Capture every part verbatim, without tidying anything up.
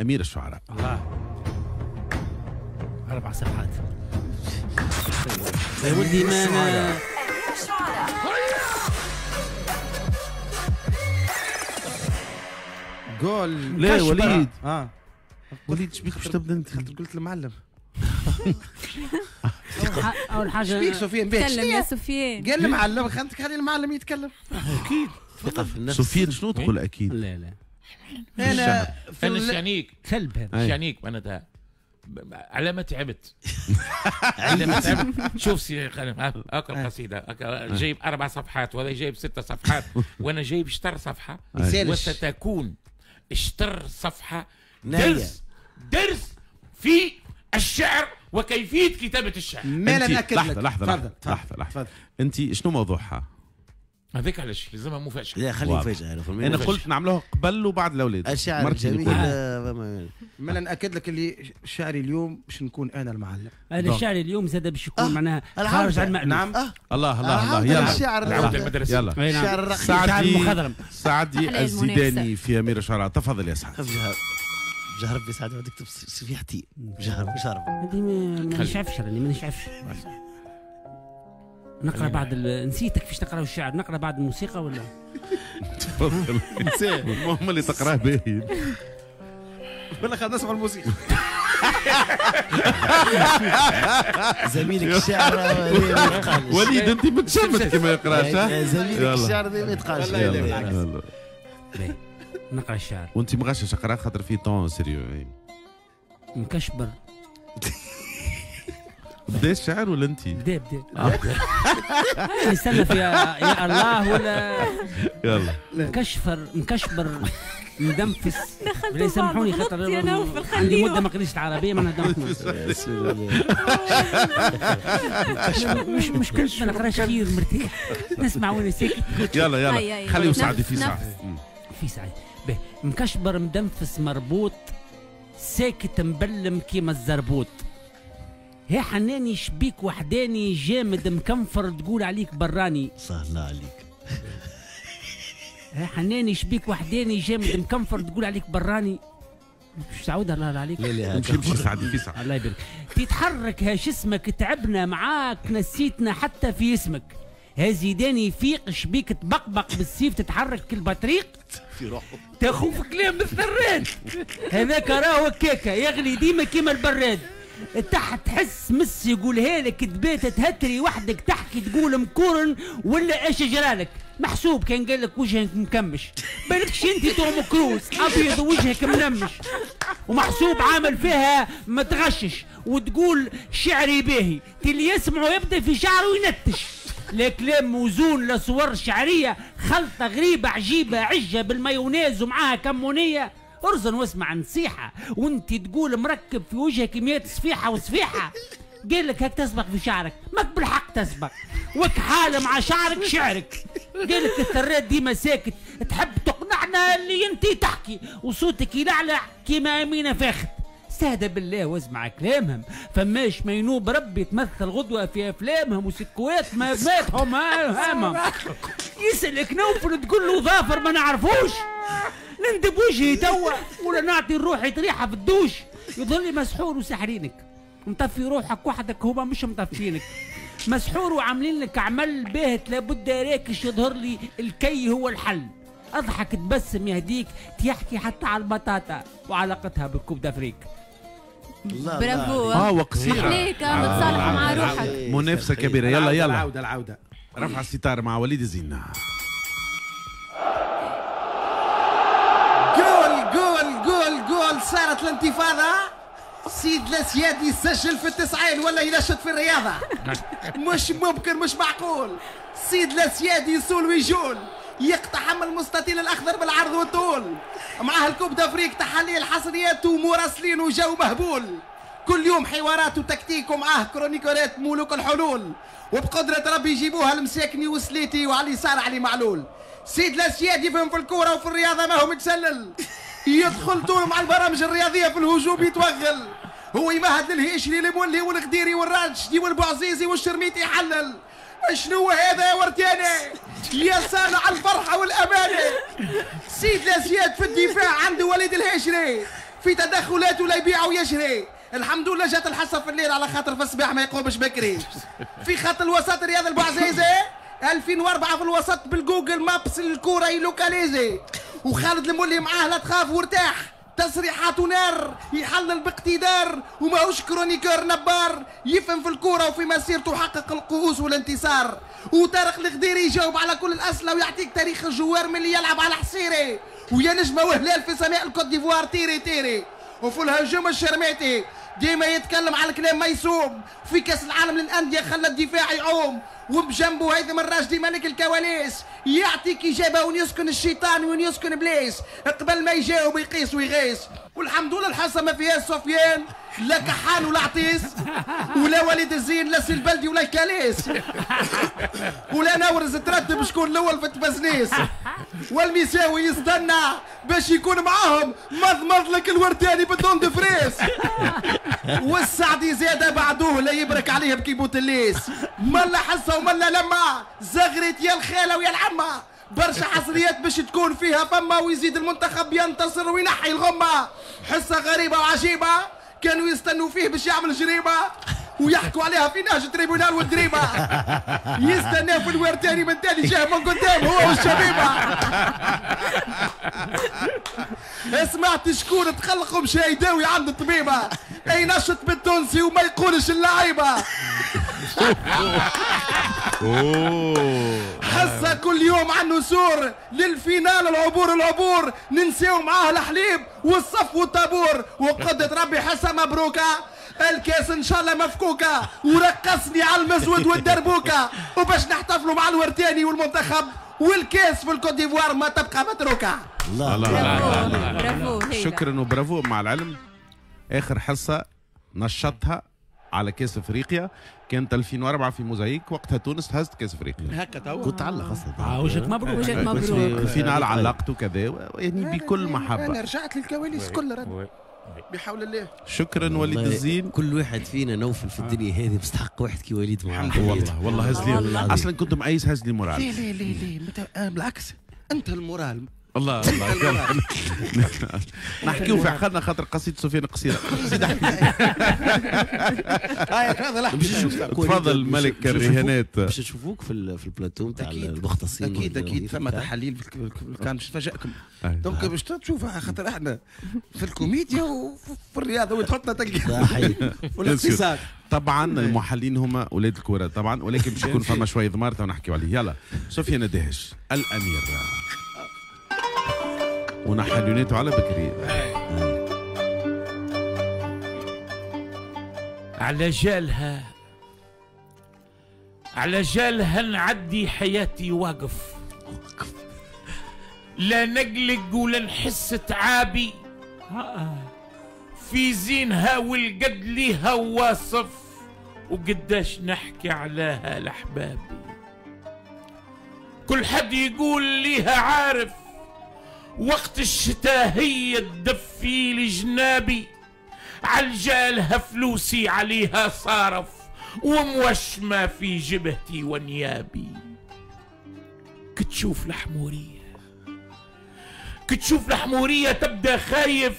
أمير الشعراء. الله، أربع صفحات يا ولدي. ما أمير الشعراء. جول. لا وليد. اه وليد شبيك باش تبدا انت؟ قلت المعلم. اول حاجة شبيك سفيان؟ تكلم يا سفيان. قال المعلم، خلي المعلم يتكلم. اكيد ثقة في النفس. سفيان شنو تقول اكيد؟ لا لا انا انا شعنيك كلب هذا شعنيك معناتها على ما تعبت، على ما تعبت. شوف سي هاكا القصيدة جايب اربع صفحات وهذا جايب ستة صفحات وانا جايب شطر صفحة، وستكون شطر صفحة درس درس في الشعر وكيفية كتابه الشعر. ما لا ناكد لك. لحظة لحظة لحظة لحظة، انت شنو موضوعها؟ هذاك علاش لازمها مفاجأة. لا خلي مفاجأة. أنا قلت نعملوها قبل وبعد الأولاد. الشعر الجميل. ما نأكد لك اللي شعري اليوم باش نكون أنا المعلم. أنا شعري اليوم زاد باش يكون معناها خارج عن المألوف. نعم. الله الله الله، يلا الشعر العودة المدرسية. يلا الشعر الرقيق. سعدي سعدي الزيداني في أمير الشعراء، تفضل يا سعد. بجه ربي سعد تكتب صفيحتي بجه ربي شرب. هذه ما نشعفش، راني ما نشعفش. نقرا بعد ال... نسيتك كيفاش تقرا الشعر، نقرا بعد الموسيقى ولا؟ تفضل. المهم اللي تقراه باهي. ولا خلينا نسمع الموسيقى. زميلك الشعر وليد انت متشمت كما يقراش. زميلك الشعر ما يتقالش. نقرا الشعر وانت مغشش اقرا خاطر في ton sérieux. مكشبر. بدا الشعر ولا انت؟ بدا بدا. نستنى في يا, يا الله ولا يلا. مكشفر مكشبر مدنفس. لا يسامحوني خاطر عندي مده ما قريتش العربية ما نهضمش. مش مش كنت ما نقراش خير مرتاح نسمع وانا ساكت. يلا يلا خليه سعدي في ساعة. في ساعة. مكشبر مدنفس مربوط ساكت مبلم كيما الزربوط. يا حناني شبيك وحداني جامد مكنفر تقول عليك براني. سهلا عليك. يا حناني شبيك وحداني جامد مكنفر تقول عليك براني. مش تعودها الله عليك. لا لا امشي امشي سعدي في ساعة. الله يبارك. تتحرك هاش اسمك تعبنا معاك نسيتنا حتى في اسمك. ها زيداني فيق شبيك تبقبق بالسيف تتحرك كالبطريق في روحه تاخو في كلام الثراد. هذاك راهو كيكة يغلي ديما كيما البراد. تحت تحس مس يقولها لك تبات تهتري وحدك تحكي تقول مكورن ولا ايش جرالك. محسوب كان قال لك وجهك مكمش بالكش انت توم كروز ابيض وجهك منمش. ومحسوب عامل فيها ما تغشش وتقول شعري باهي اللي يسمعه يبدا في شعره ينتش. لا كلام موزون لا صور شعرية، خلطه غريبة عجيبة عجة بالمايونيز ومعاها كمونيه. ارزن واسمع نصيحة وانت تقول مركب في وجهك مية صفيحه وصفيحه. قال لك هاك تسبق في شعرك، ماك بالحق تسبق وكحاله مع شعرك شعرك. قال لك الثرات ديما ساكت تحب تقنعنا اللي انت تحكي وصوتك يلعلع كيما امينه فاخت. استهدى بالله واسمع كلامهم فماش ما ينوب ربي تمثل غدوه في افلامهم وسكوات ما ماتهم هامهم. يسالك نوفل تقول له ظافر ما نعرفوش. نندب وجهي توا ولا نعطي روحي طريحه في الدوش. يظل لي مسحور وسحرينك مطفي روحك وحدك هما مش مطفينك. مسحور وعاملين لك عمل باهت لابد راكش يظهر لي الكي هو الحل. اضحك تبسم يهديك تحكي حتى على البطاطا وعلاقتها بال Coupe d'Afrique. برافو. اه وقصيره محليك متصالحه مع روحك. منافسه كبيرة. يلا يلا العودة العودة. رفع الستار مع وليد زينة. جول جول جول جول، صارت الانتفاضة. سيد الاسياد يسجل في التسعين ولا ينشط في الرياضة. مش ممكن مش معقول. سيد الاسياد يسول ويجول يقتحم المستطيل الاخضر بالعرض والطول. معاه ال Coupe d'Afrique تحاليل حصريات ومراسلين وجو مهبول. كل يوم حوارات وتكتيك ومعاه chroniqueur ات ملوك الحلول. وبقدرة ربي يجيبوها المساكني وسليتي وعلي صار علي معلول. سيد الاسياد يفهم في الكورة وفي الرياضة ما هو متسلل. يدخل طول مع البرامج الرياضية في الهجوم يتوغل. هو يمهد للهيشري المولي والغديري والراشدي والبوعزيزي والشرميتي يحلل. شنو هذا يا ورتاني؟ يا صانع الفرحة والأمانة. سيد الأسياد في الدفاع عنده وليد الهشري. في تدخلات ولا يبيع ويشري. الحمد لله جات الحصة في الليل على خاطر في الصباح ما يقومش بكري. في خط الوسط رياض البوعزيزي ألفين وأربعة في الوسط بال Google Maps الكورة يلوكاليزي، وخالد المولي معاه لا تخاف وارتاح، تصريحاته نار يحلل باقتدار، وماهوش chroniqueur نبار، يفهم في الكورة وفي مسيرته حقق الكؤوس والانتصار. وطارق الغديري يجاوب على كل الاسئلة ويعطيك تاريخ ال joueur من اللي يلعب على حصيري، ويا نجمه وهلال في سماء الكوت ديفوار تيري تيري. وفي الهجوم الشرميتي ديما يتكلم على الكلام ما يصوم، في كاس العالم للاندية خلى الدفاع يعوم، وبجنبه هيثم الراشدي ملك الكواليس يعطيك اجابه وين يسكن الشيطان وين يسكن ابليس، قبل ما يجاوب يقيس ويغيس. والحمد لله الحصة ما فيهاش سفيان لا كحان ولا عطيس، ولا وليد الزين لا سي البلدي ولا الكاليس، ولا نورز ترتب شكون الاول في التبزنيس، والمساوي يستنى باش يكون معاهم مضمض لك الورداني بال dentifrice، والسعدي زاد بعدوه لا يبرك عليه بكيبوت الليس. ملا حصة وملا لما زغرت يا الخالة ويا العمه، برشا حصريات باش تكون فيها فما، ويزيد المنتخب ينتصر وينحي الغمة. حصة غريبة وعجيبه كانوا يستنوا فيه باش يعمل جريمة، ويحكوا عليها في نهج tribunal والدريبه، يستناو في الورتاني من تاني جاه من قدام هو والشبيبه. سمعت شكون تخلقوا مشى يداوي عند الطبيبة، اي نشط بالتونسي وما يقولش اللعيبة. حصة كل يوم عن نسور لل finale العبور العبور، ننساو معاه الحليب والصف والطابور، وقدرة ربي حصة مبروكه الكاس ان شاء الله مفكوكه، ورقصني على المزود والدربوكه، وباش نحتفلوا مع الورتاني والمنتخب والكاس في الكوت ديفوار ما تبقى متروكة. الله الله الله، برافو، شكرا وبرافو. مع العلم اخر حصة نشطها على كاس افريقيا كانت ألفين وأربعة في موزايك، وقتها تونس هزت كاس افريقيا. هكا توا كنت علق اصلا. اه وجهك مبروك، وجهك مبروك. ال finale علقت وكذا يعني بكل محبة. انا رجعت للكواليس كل رد بحول الله. شكرا وليد الزين. كل واحد فينا نوفل في الدنيا هذه مستحق واحد كي وليد معاه. والله والله هز لي اصلا كنت مقيس هز لي moral. ليه ليه ليه ليه بالعكس انت ال moral. الله الله نحكيو في عقلنا خاطر قصيدة سفيان قصيرة. زيد احكي. تفضل ملك الرهانات. باش نشوفوك في في البلاتو نتاع المختصين. اكيد اكيد ثم تحاليل كان باش نفاجئكم. donc باش تشوف خاطر احنا في الكوميديا وفي الرياضة وتحطنا تلقى والاقتصاد. طبعا المحللين هما اولاد الكره طبعا، ولكن باش يكون فما شوية ضمار تو نحكيو عليه. يلا سفيان الدهش الامير ونحلوناته على بكري. على جالها على جالها نعدي حياتي واقف، لا نقلق ولا نحس تعابي، في زينها والقد ليها واصف، وقداش نحكي عليها لأحبابي. كل حد يقول ليها عارف، وقت الشتاء هي تدفي لجنابي، عالجالها فلوسي عليها صارف، وموشمة في جبهتي ونيابي. كتشوف الحمورية كتشوف الحمورية تبدا خايف،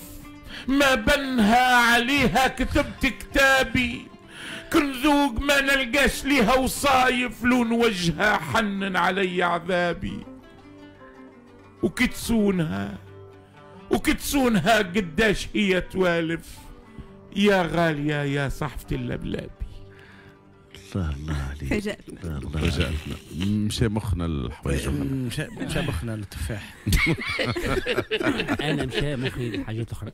ما بنها عليها كتبت كتابي، كنذوق ما نلقاش ليها وصايف، لون وجهها حنن علي عذابي. وكتسونها وكتسونها قداش هي توالف، يا غالية يا صحفة اللبلابي. الله الله عليك، فاجأتنا فاجأتنا. مشى مخنا الحوايج، مشى مشى مخنا للتفاح. انا مشى مخي لحاجات اخرى.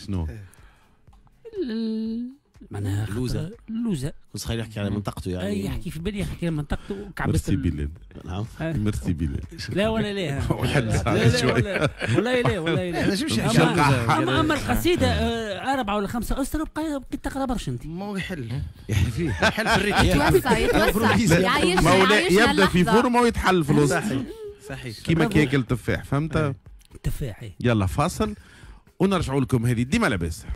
شنو؟ معناها اللوزه. اللوزه كنت خليه يحكي على منطقته يعني. اي يحكي في بالي يحكي على منطقته. ميرسي بلال. نعم ميرسي بلال. لا ولا لا ولا شوية. والله لا والله لا. اما اما القصيدة اربعة ولا خمسة اسره بقيت تقرا برشا انت. ما هو يحل يحل فيه يحل في ال rythme. يتوسع يتوسع يعيشنا. يبدا في forme ويتحل في الوسط. صحيح صحيح. كيما كياكل تفاح فهمت؟ تفاح. يلا فاصل ونرجعوا لكم هذه ديما لاباس.